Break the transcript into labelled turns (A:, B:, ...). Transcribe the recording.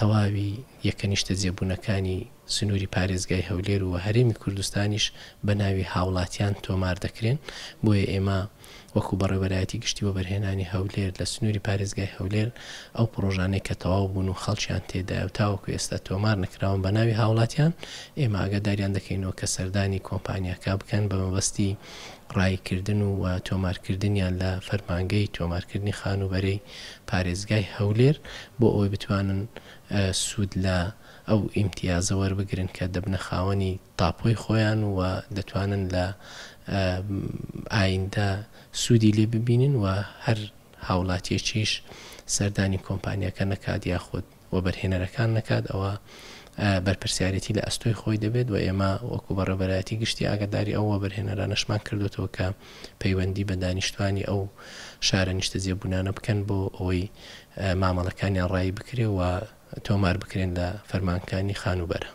A: تەواوی یەکە نیشتەجێبوونەکانی سنووری پارێزگای هەولێر و هەرێمی کوردستانیش بە ناوی هاوڵاتیان تۆمار دەکرێن، بۆیە ئێمە وەکو بەڕێوەبەرایەتی گشتی وەبەرهێنانی هەولێر لە سنووری پارێزگای هەولێر ئەو پڕۆژانەی کە تەواو بوون و خەڵکیان تێدایە و تاوەکو ئێستا تۆمار نەکراون بە ناوی هاوڵاتیان ئێمە ئاگاداریان دەکەینەوە کە سەردانی کۆمپانیاکە بکەن بە مەبەستی ڕاییکردن و تۆمارکردنیان لە فەرمانگەی تۆمارکردنی خانووبەرەی پارێزگای هەولێر بۆ ئەوەی بتوانن سوود لە ئەو ئیمتیازە وەربگرن کە دەبنە خاوەنی تاپۆی خۆیان و دەتوانن لە ئایندە سوودی لێ ببینن و هەر هاوڵاتیەکیش سەردانی کۆمپانیاکە نەکات یاخود وەبەرهێنەرەکان نەکات ئەوە بەرپرسیارێتی لە ئەستۆی خۆی دەبێت و ئێمە وەکو بەڕێوەبەرایەتی گشتی ئاگاداری ئەو وەبەرهێنەرانەشمان کردوێتەوە کە پەیوەندی بە دانیشتوانی ئەو شارە نیشتەجێبوونانە بکەن بۆ ئەوەی مامەڵەکانیان ڕایی بکرێ و تۆمار بکرێن لە فەرمانکانی خانووبەرە.